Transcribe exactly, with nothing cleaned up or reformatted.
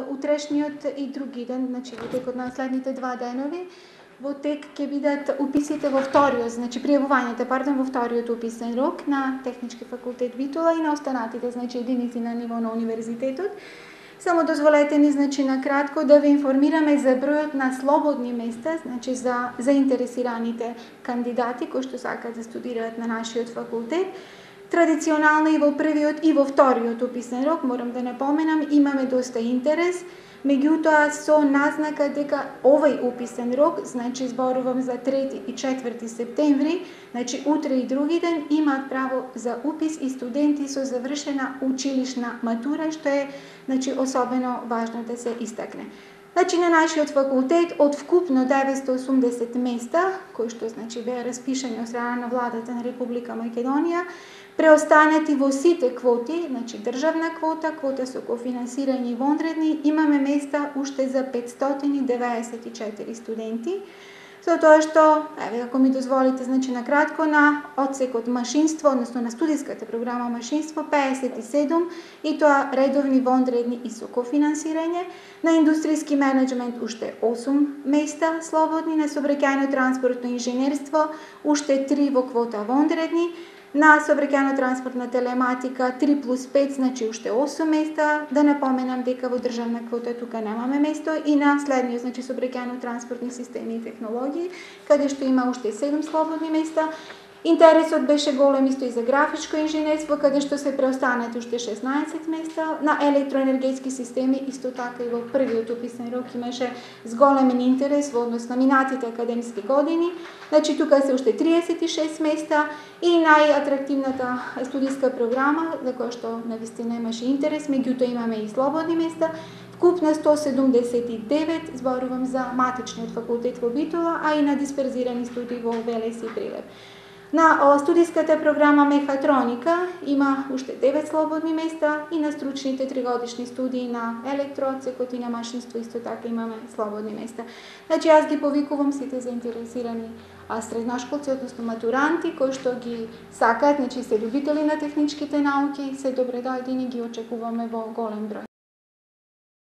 утрешниот и други ден, значи во текот на следните два денови, во тек ќе бидат уписите во вториот, значи пријавувањето, пардон, во вториот уписен рок на Технички факултет Битола и на останатите, значи единици на ниво на универзитетот. Само дозволете ни, значи, накратко да ви информираме за бројот на слободни места, значи за заинтересираните кандидати кои што сакаат да студираат на нашиот факултет. Традиционално и во првиот и во вториот уписен рок, морам да напоменам, имаме доста интерес, меѓутоа со назнака дека овој уписен рок, значи зборувам за трети и четврти септември, значи утре и други ден, имаат право за упис и студенти со завршена училишна матура, што е, значи, особено важно да се истакне. Значи на нашиот факултет од вкупно деветстотини и осумдесет места, кои што, значи, беа распишани од страна на владата на Република Македонија, преостанати во сите квоти, значи државна квота, квота со кофинансирање и вонредни, имаме места уште за петстотини деветдесет и четири студенти. Со тоа што, еве, ако ми дозволите, значи накратко, на одсекот машинство, односно на студиската програма машинство, пеесет и седум, и тоа редовни, вонредни и со кофинансирање. На индустријски менеджмент уште осум места слободни, на сообраќајно транспортно инженерство уште три во квота вонредни, на сообраќајно транспортна телематика три плюс пет, значи уште осум места. Да напоменам дека во државна квота тука немаме место, и на следниот, значи сообраќајно транспортни системи и технологии, каде што има уште седум слободни места. Интересот беше голем исто и за графичко инженерство, каде што се преостанати уште шеснаесет места. На електроенергетски системи исто така и во првиот уписен рок имаше зголемен интерес во однос на минатите академски години. Значи тука се уште триесет и шест места, и најатрактивната студиска програма за која што навистина имаше интерес, меѓутоа имаме и слободни места. Вкупно сто седумдесет и девет, зборувам за матичниот факултет во Битола, а и на дисперзирани студии во Велес и Прилеп. На студиската програма мехатроника има уште девет слободни места, и на стручните тригодишни студии на електроотсекот и на машинство исто така имаме слободни места. Значи јас ги повикувам сите заинтересирани средношколци, односно матуранти, кои што ги сакаат, значи се љубители на техничките науки, се добре дојдени, ги очекуваме во голем број.